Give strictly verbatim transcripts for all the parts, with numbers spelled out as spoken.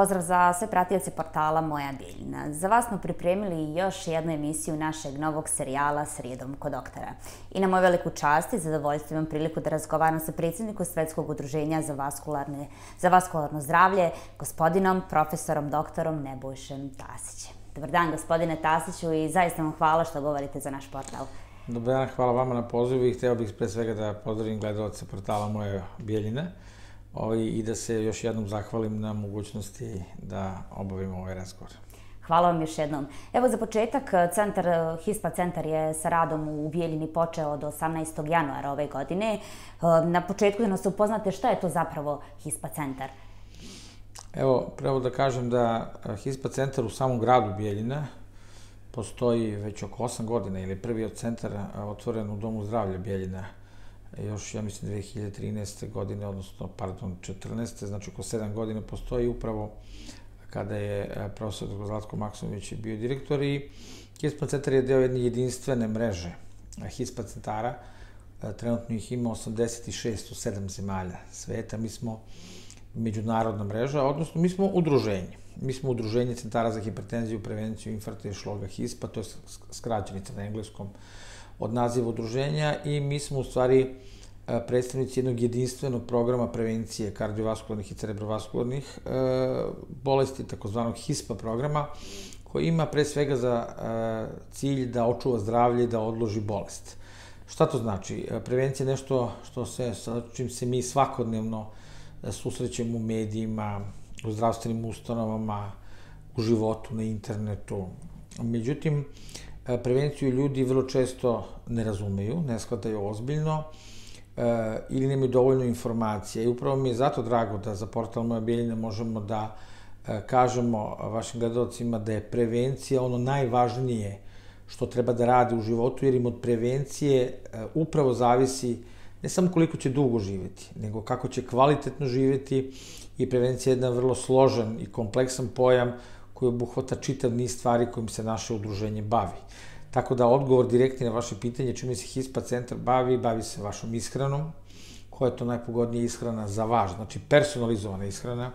Pozdrav za sve pratioce portala Moja Bijeljina. Za vas smo pripremili još jednu emisiju našeg novog serijala Srijedom kod doktora. I na moju veliku čast i zadovoljstvo imam priliku da razgovaram sa predsjednikom Svetskog udruženja za, za vaskularno zdravlje, gospodinom profesorom doktorom Nebojšom Tasićem. Dobar dan, gospodine Tasiću, i zaista vam hvala što govorite za naš portal. Dobar dan, hvala vama na pozivu i hteo bih pre svega da pozdravim gledalce portala Moja Bijeljina i da se još jednom zahvalim na mogućnosti da obavimo ovaj razgovor. Hvala vam još jednom. Evo za početak, centar, HISPA centar je sa radom u Bijeljini počeo od osamnaestog januara ove godine. Na početku da nas upoznate šta je to zapravo HISPA centar? Evo, pravo da kažem da HISPA centar u samom gradu Bijeljina postoji već oko osam godina, ili prvi od centara otvoren u Domu zdravlja Bijeljina još, ja mislim, dve hiljade trinaeste. godine, odnosno, pardon, četrnaeste. Znači, oko sedam godina postoji upravo kada je profesor doktor Zlatko Maksimović bio direktor i HISPA centar je deo jedne jedinstvene mreže HISPA centara. Trenutno ih ima osamdeset šest u sedam zemalja sveta. Mi smo međunarodna mreža, odnosno mi smo udruženje. Mi smo udruženje centara za hipertenziju, prevenciju, infarkta i šloga HISPA, to je skraćenica na engleskom od naziva udruženja, i mi smo u stvari predstavnici jednog jedinstvenog programa prevencije kardiovaskularnih i cerebrovaskularnih bolesti, takozvanog HISPA programa, koji ima pre svega za cilj da očuva zdravlje i da odloži bolest. Šta to znači? Prevencija je nešto što se, sa čim se mi svakodnevno susrećemo u medijima, u zdravstvenim ustanovama, u životu, na internetu. Međutim, prevenciju ljudi vrlo često ne razumeju, ne shvataju ozbiljno ili nemaju dovoljno informacija. I upravo mi je zato drago da za portal Moja Bijeljina možemo da kažemo vašim gledalcima da je prevencija ono najvažnije što treba da rade u životu, jer im od prevencije upravo zavisi ne samo koliko će dugo živjeti, nego kako će kvalitetno živjeti, i prevencija je jedan vrlo složen i kompleksan pojam koji obuhvata čitav niz stvari kojim se naše udruženje bavi. Tako da odgovor direktni na vaše pitanje čime se HISPA centar bavi, bavi se vašom ishranom, koja je to najpogodnija ishrana za vas, znači personalizovana ishrana,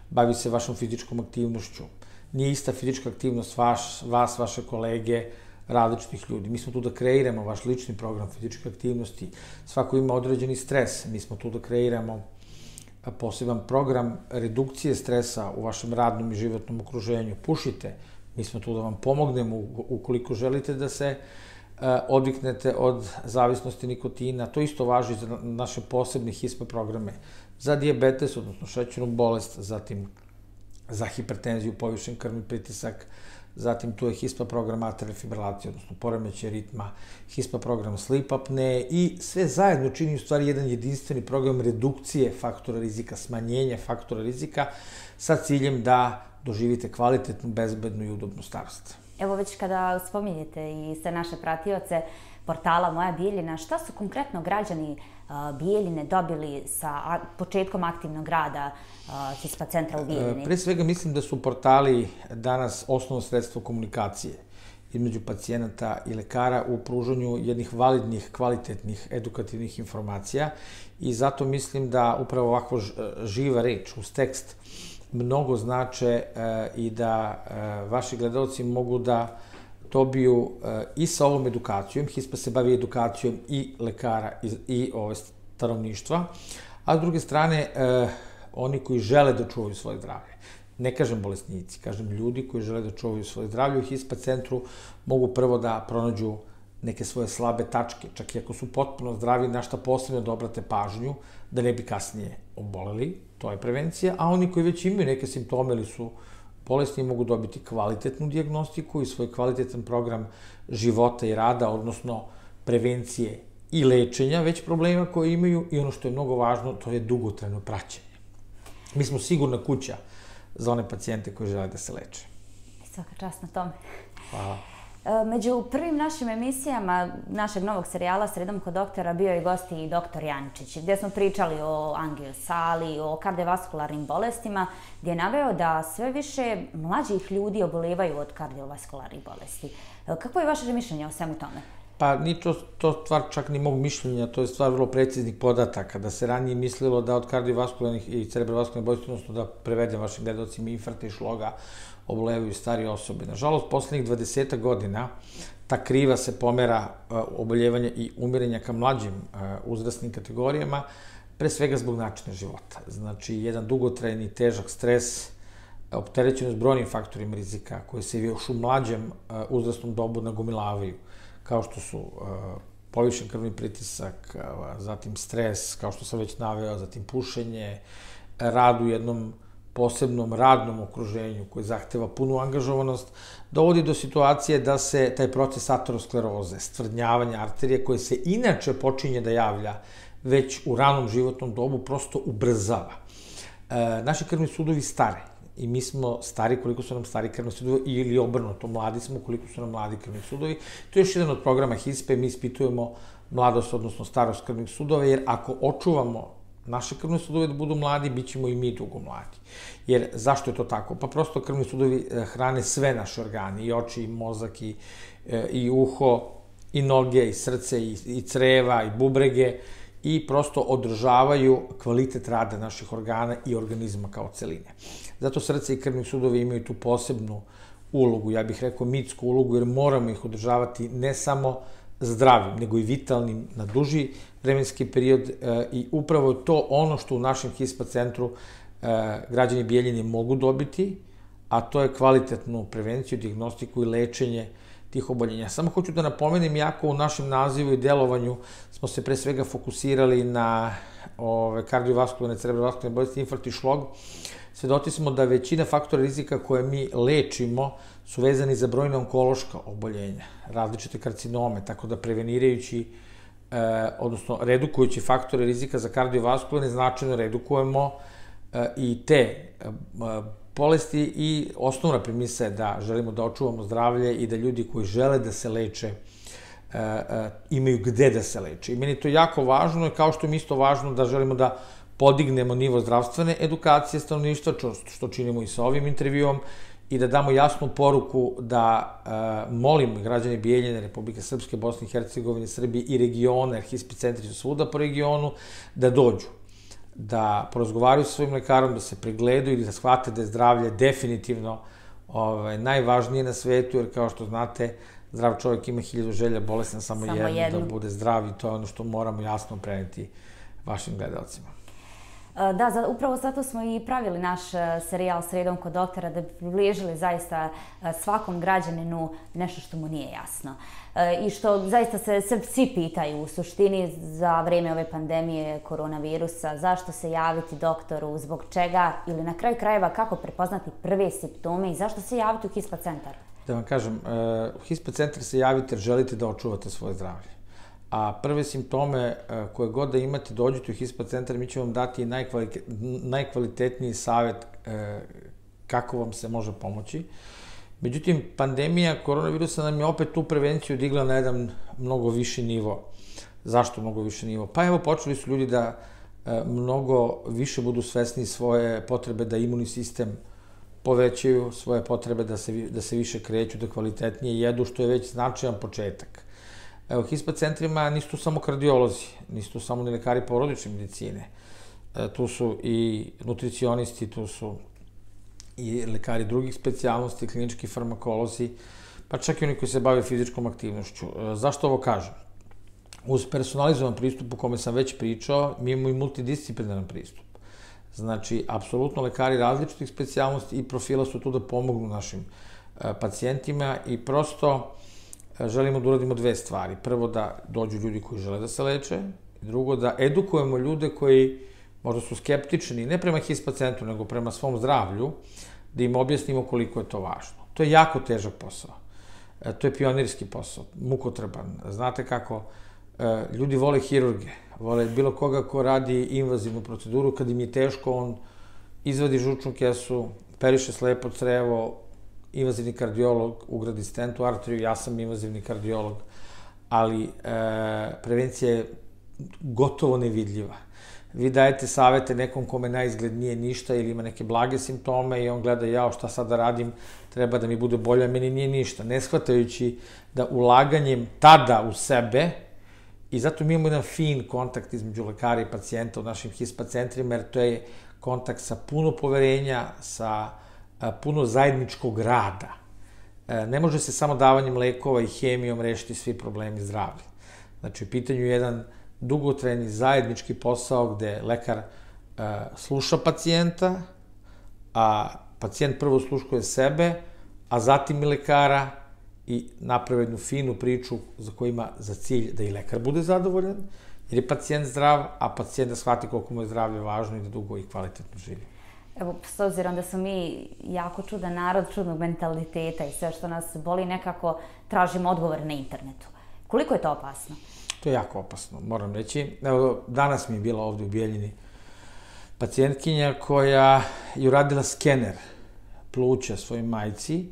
bavi se vašom fizičkom aktivnošću. Nije ista fizička aktivnost vaš, vas, vaše kolege, različitih ljudi. Mi smo tu da kreiramo vaš lični program fizičke aktivnosti. Svako ima određeni stres. Mi smo tu da kreiramo poseban program redukcije stresa u vašem radnom i životnom okruženju. Pušite. Mi smo tu da vam pomognemo ukoliko želite da se odviknete od zavisnosti nikotina. To isto važi za naše posebne HISPA programe. Za dijabetes, odnosno šećernu bolest, zatim za hipertenziju, povišen krvni pritisak, zatim tu je HISPA program atrialne fibrilacije, odnosno poremećaj ritma, HISPA program sleep apnee, i sve zajedno čini u stvari jedan jedinstveni program redukcije faktora rizika, smanjenja faktora rizika, sa ciljem da doživite kvalitetnu, bezbednu i udobnu starost. Evo, već kada spominjete i sve naše pratioce portala Moja Bijeljina, šta su konkretno građani Bijeljine dobili sa početkom aktivnog rada HISPA centra u Bijeljini? Pre svega mislim da su portali danas osnovno sredstvo komunikacije između pacijenata i lekara u pružanju jednih validnih, kvalitetnih, edukativnih informacija, i zato mislim da upravo ovako živa reč uz tekst mnogo znače i da vaši gledalci mogu da dobiju i sa ovom edukacijom. HISPA se bavi edukacijom i lekara i stanovništva, a s druge strane oni koji žele da čuvaju svoje zdravlje. Ne kažem bolesnici, kažem ljudi koji žele da čuvaju svoje zdravlje. U HISPA centru mogu prvo da pronađu neke svoje slabe tačke, čak i ako su potpuno zdravi, na šta posebno da obrate pažnju, da ne bi kasnije oboleli, to je prevencija, a oni koji već imaju neke simptome ili su bolesni mogu dobiti kvalitetnu dijagnostiku i svoj kvalitetan program života i rada, odnosno prevencije i lečenja već problema koje imaju, i ono što je mnogo važno, to je dugotrajno praćenje. Mi smo sigurna kuća za one pacijente koji žele da se leče. Svaka čast na tome. Hvala. Među prvim našim emisijama našeg novog serijala Sredom kod doktora bio je gost i doktor Jančić, gdje smo pričali o angiosali, o kardiovaskularnim bolestima, gdje je naveo da sve više mlađih ljudi obolevaju od kardiovaskularnih bolesti. Kako je vaše mišljenje o svemu tome? Pa ni to stvar čak ni mog mišljenja, to je stvar vrlo preciznih podataka, da se ranije mislilo da od kardiovaskularnih i cerebrovaskularnih bolesti, odnosno da prevedem vašim gledalcima, infarkta i šloga obolevaju starije osobe. Nažalost, poslednjih dvadesetak godina ta kriva se pomera oboljevanja i umirenja ka mlađim uzrasnim kategorijama, pre svega zbog načina života. Znači, jedan dugotrajni, težak stres, opterećenost brojnim faktorima rizika, koji se još u mlađem uzrasnom dobu nagomilavaju, kao što su povišen krvni pritisak, zatim stres, kao što sam već naveo, zatim pušenje, rad u jednom posebnom radnom okruženju koji zahteva punu angažovanost, dovodi do situacije da se taj proces ateroskleroze, stvrdnjavanja arterije, koje se inače počinje da javlja već u ranom životnom dobu, prosto ubrzava. Naši krvni sudovi stare i mi smo stari koliko su nam stari krvni sudovi ili obrnuto, mladi smo koliko su nam mladi krvni sudovi. To je još jedan od programa H I S P E, mi ispitujemo mladost, odnosno starost krvnih sudova, jer ako očuvamo naše krvne sudove da budu mladi, bit ćemo i mi dugo mladi. Jer zašto je to tako? Pa prosto krvni sudovi hrane sve naše organe, i oči, i mozak, i, i uho, i noge, i srce, i, i creva, i bubrege, i prosto održavaju kvalitet rada naših organa i organizma kao celine. Zato srce i krvni sudovi imaju tu posebnu ulogu, ja bih rekao mitsku ulogu, jer moramo ih održavati ne samo zdravim, nego i vitalnim na duži vremenski period, i upravo je to ono što u našem H I S P A centru građani Bijeljine mogu dobiti, a to je kvalitetnu prevenciju, dijagnostiku i lečenje tih oboljenja. Samo hoću da napomenem, jako u našem nazivu i delovanju smo se pre svega fokusirali na kardiovaskularne, cerebrovaskularne bolesti, infarkt i šlog. Svedoci smo da većina faktora rizika koje mi lečimo su vezani za brojne onkološka oboljenja, različite karcinome, tako da prevenirajući, odnosno redukujući faktore rizika za kardiovaskularne, značajno redukujemo i te bolesti, i osnovna premisa je da želimo da očuvamo zdravlje i da ljudi koji žele da se leče imaju gde da se leče. I meni je to jako važno, kao što mi isto važno da želimo da podignemo nivo zdravstvene edukacije stanovništva, što činimo i sa ovim intervjuom, i da damo jasnu poruku da molimo građane Bijeljine, Republike Srpske, Bosne i Hercegovine, Srbije i regiona, jer H I S P centri su svuda po regionu, da dođu, da porazgovaraju sa svojim lekarom, da se pregledaju i da shvate da je zdravlje definitivno najvažnije na svetu, jer kao što znate, zdrav čovjek ima hiljadu želja, bolestan samo jednu, da bude zdrav, i to je ono što moramo jasno preneti vašim gledalcima. Da, upravo zato smo i pravili naš serijal Sredom kod doktora, da bi približili zaista svakom građaninu nešto što mu nije jasno. I što zaista se svi pitaju u suštini za vreme ove pandemije koronavirusa, zašto se javiti doktoru, zbog čega, ili na kraju krajeva kako prepoznati prve simptome i zašto se javiti u H I S P A centar? Da vam kažem, u H I S P A centar se javite jer želite da očuvate svoje zdravlje. A prve simptome koje god da imate, dođete u H I S P A centar, mi ćemo vam dati najkvalitetniji savjet kako vam se može pomoći. Međutim, pandemija koronavirusa nam je opet tu prevenciju digla na jedan mnogo viši nivo. Zašto mnogo viši nivo? Pa evo, počeli su ljudi da mnogo više budu svesni svoje potrebe da imunni sistem povećaju, svoje potrebe da se više kreću, da kvalitetnije jedu, što je već značajan početak. Evo, H I S P A centrima nisu tu samo kardiolozi, nisu tu samo ni lekari porodične medicine. Tu su i nutricionisti, tu su i lekari drugih specijalnosti, klinički farmakolozi, pa čak i oni koji se bave fizičkom aktivnošću. Zašto ovo kažem? Uz personalizovan pristup o kome sam već pričao, mi imamo i multidisciplinaran pristup. Znači, apsolutno lekari različitih specijalnosti i profila su tu da pomognu našim pacijentima, i prosto želimo da uradimo dve stvari. Prvo, da dođu ljudi koji žele da se leče, i drugo, da edukujemo ljude koji možda su skeptični, ne prema H I S P A centru, nego prema svom zdravlju, da im objasnimo koliko je to važno. To je jako težak posao. To je pionirski posao, mukotreban. Znate kako, ljudi vole hirurge, vole bilo koga ko radi invazivnu proceduru, kad im je teško, on izvadi žučnu kesu, periše slepo crevo, invazivni kardiolog ugradi stent u arteriju, ja sam invazivni kardiolog, ali prevencija je gotovo nevidljiva. vi dajete savete nekom kome na izgled nije ništa ili ima neke blage simptome i on gleda, jao, šta sad da radim, treba da mi bude bolje, a meni nije ništa. Ne shvatajući da ulaganjem tada u sebe, i zato mi imamo jedan fin kontakt između lekara i pacijenta u našim HISPA centrima, jer to je kontakt sa puno poverenja, sa puno zajedničkog rada. Ne može se samo davanjem lekova i hemijom rešiti svi problemi zdravlja. Znači, u pitanju je jedan dugotrajni zajednički posao gde lekar sluša pacijenta, a pacijent prvo sluškuje sebe, a zatim i lekara i napravi jednu finu priču za koju ima za cilj da i lekar bude zadovoljan, jer je pacijent zdrav, a pacijent da shvati koliko mu je zdravlje važno i da dugo i kvalitetno živi. Evo, s obzirom da smo mi jako čudan narod, čudnog mentaliteta i sve što nas boli, nekako tražimo odgovore na internetu. Koliko je to opasno? To je jako opasno, moram reći. Evo, danas mi je bila ovde u Bijeljini pacijentkinja koja je uradila skener pluća svojoj majci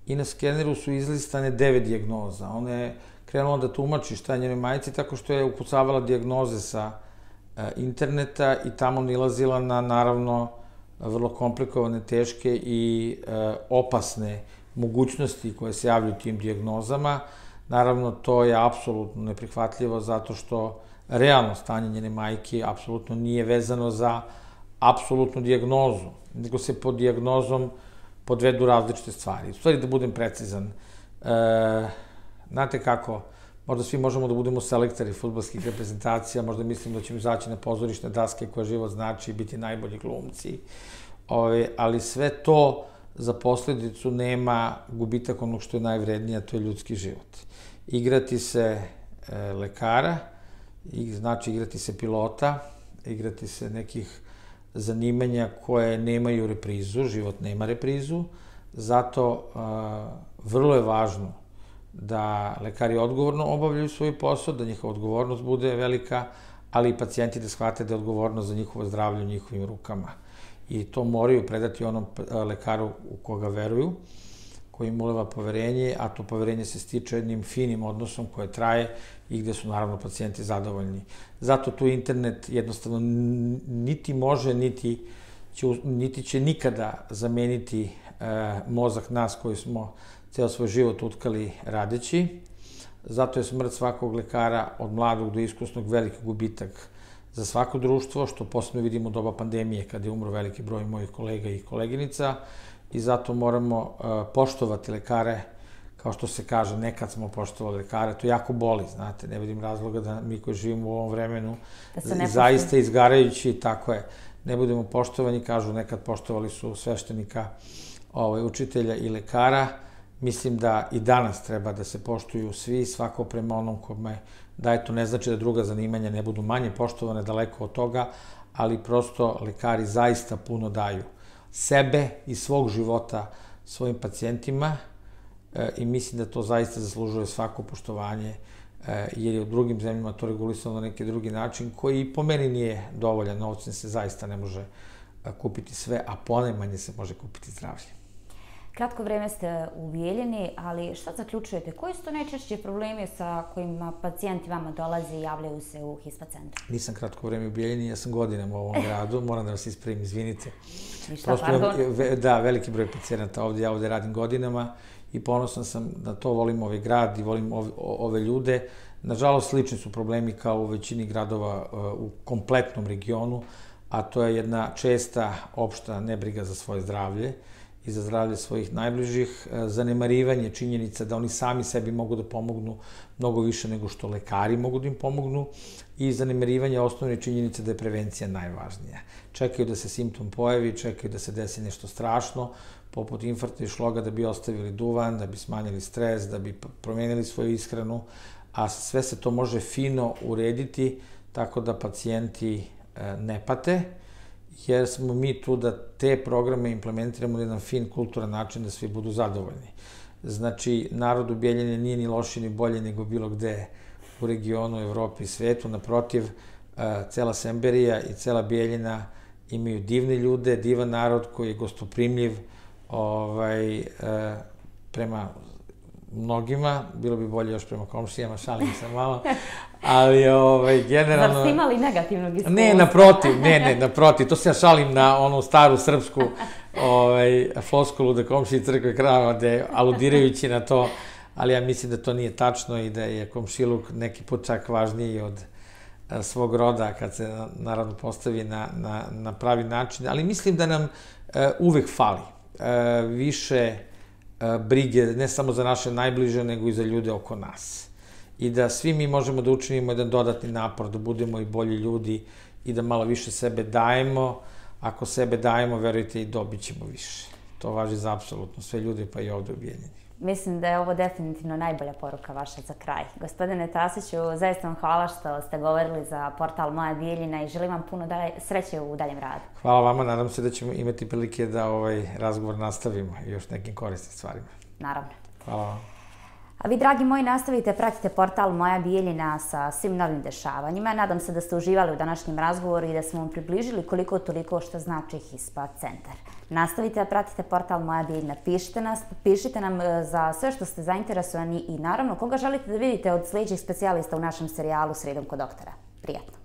i na skeneru su izlistane devet dijagnoza. Ona je krenula da tumači šta je njenoj majci tako što je ukucavala dijagnoze sa interneta i tamo nilazila na, naravno, vrlo komplikovane, teške i opasne mogućnosti koje se javljaju tim dijagnozama. Naravno, to je apsolutno neprihvatljivo zato što realno stanje njene majke apsolutno nije vezano za apsolutnu dijagnozu, nego se pod dijagnozom podvedu različite stvari. U stvari, da budem precizan, znate kako, možda svi možemo da budemo selektori fudbalskih reprezentacija, možda mislim da ćemo izaći na pozorišne daske koje život znači i biti najbolji glumci, ali sve to za posledicu nema gubitak onog što je najvrednije, a to je ljudski život. Igrati se lekara, znači igrati se pilota, igrati se nekih zanimanja koje nemaju reprizu, život nema reprizu, zato vrlo je važno da lekari odgovorno obavljaju svoj posao, da njihova odgovornost bude velika, ali i pacijenti da shvate da je odgovornost za njihovo zdravlje u njihovim rukama. I to moraju predati onom lekaru u koga veruju, koji im uleva poverenje, a to poverenje se stiče jednim finim odnosom koje traje i gde su naravno pacijenti zadovoljni. Zato tu internet jednostavno niti može, niti će, niti će nikada zameniti mozak nas koji smo ceo svoj život utkali radeći. Zato je smrt svakog lekara od mladog do iskusnog veliki gubitak za svako društvo, što posebno vidimo u doba pandemije kada je umro veliki broj mojih kolega i koleginica i zato moramo poštovati lekare, kao što se kaže, nekad smo poštovali lekare, to jako boli, znate, ne vidim razloga da mi koji živimo u ovom vremenu, zaista izgarajući, tako je, ne budemo poštovani, kažu nekad poštovali su sveštenika, učitelja i lekara. Mislim da i danas treba da se poštuju svi, svako prema onom kome daje, to ne znači da druga zanimanja ne budu manje poštovane, daleko od toga, ali prosto lekari zaista puno daju sebe i svog života svojim pacijentima i mislim da to zaista zaslužuje svako poštovanje, jer je u drugim zemljama to regulisano na neki drugi način, koji po meni nije dovoljan, novcem se zaista ne može kupiti sve, a ponajmanje se može kupiti zdravlje. Kratko vreme ste u Bijeljini, ali šta zaključujete? Koji su to najčešći problemi sa kojima pacijenti vama dolaze i javljaju se u HISPA centru? Nisam kratko vreme u Bijeljini, ja sam godinama u ovom gradu, moram da vas ispravim, izvinite. Ništa, pardon. Da, veliki broj pacijenata ovde, ja ovde radim godinama i ponosan sam da to volim ovaj grad i volim ove ljude. Nažalost, slični su problemi kao u većini gradova u kompletnom regionu, a to je jedna česta opšta nebriga za svoje zdravlje i za zdravlje svojih najbližih, zanemarivanje činjenica da oni sami sebi mogu da pomognu mnogo više nego što lekari mogu da im pomognu i zanemarivanje osnovne činjenice da je prevencija najvažnija. Čekaju da se simptom pojavi, čekaju da se desi nešto strašno, poput infarkta i šloga, da bi ostavili duvan, da bi smanjili stres, da bi promenili svoju ishranu, a sve se to može fino urediti tako da pacijenti ne pate, jer smo mi tu da te programe implementiramo na jedan fin, kulturan način da svi budu zadovoljni. Znači, narod u Bijeljini nije ni loši ni bolje nego bilo gde u regionu, Evropi i svetu. Naprotiv, cela Semberija i cela Bijeljina imaju divne ljude, divan narod koji je gostoprimljiv prema mnogima, bilo bi bolje još prema komšijama, šalim se malo, ali ovaj, generalno... Zar ste imali negativnog iskustva? Ne, naprotiv, ne, ne, naprotiv, to se ja šalim na onu staru srpsku ovaj, floskulu da komšiji crkve krava, aludirajući na to, ali ja mislim da to nije tačno i da je komšiluk neki put čak važniji od svog roda kad se naravno postavi na, na, na pravi način, ali mislim da nam uh, uvek fali uh, više uh, brige ne samo za naše najbliže, nego i za ljude oko nas. I da svi mi možemo da učinimo jedan dodatni napor, da budemo i bolji ljudi i da malo više sebe dajemo. Ako sebe dajemo, verujte, i dobit ćemo više. To važi za apsolutno sve ljude, pa i ovde u Bijeljini. Mislim da je ovo definitivno najbolja poruka vaša za kraj. Gospodine Tasiću, zaista vam hvala što ste govorili za portal Moja Bijeljina i želim vam puno dalje, sreće u daljem radu. Hvala vama, nadam se da ćemo imati prilike da ovaj razgovor nastavimo i još nekim korisnim stvarima. Naravno. Hvala vam. A vi, dragi moji, nastavite, pratite portal Moja Bijeljina sa svim novim dešavanjima. Nadam se da ste uživali u današnjem razgovoru i da smo vam približili koliko toliko što znači Hispa centar. Nastavite da pratite portal Moja Bijeljina, pišite, nas, pišite nam za sve što ste zainteresovani i naravno koga želite da vidite od sljedećih specijalista u našem serijalu Sredom kod doktora. Prijatno!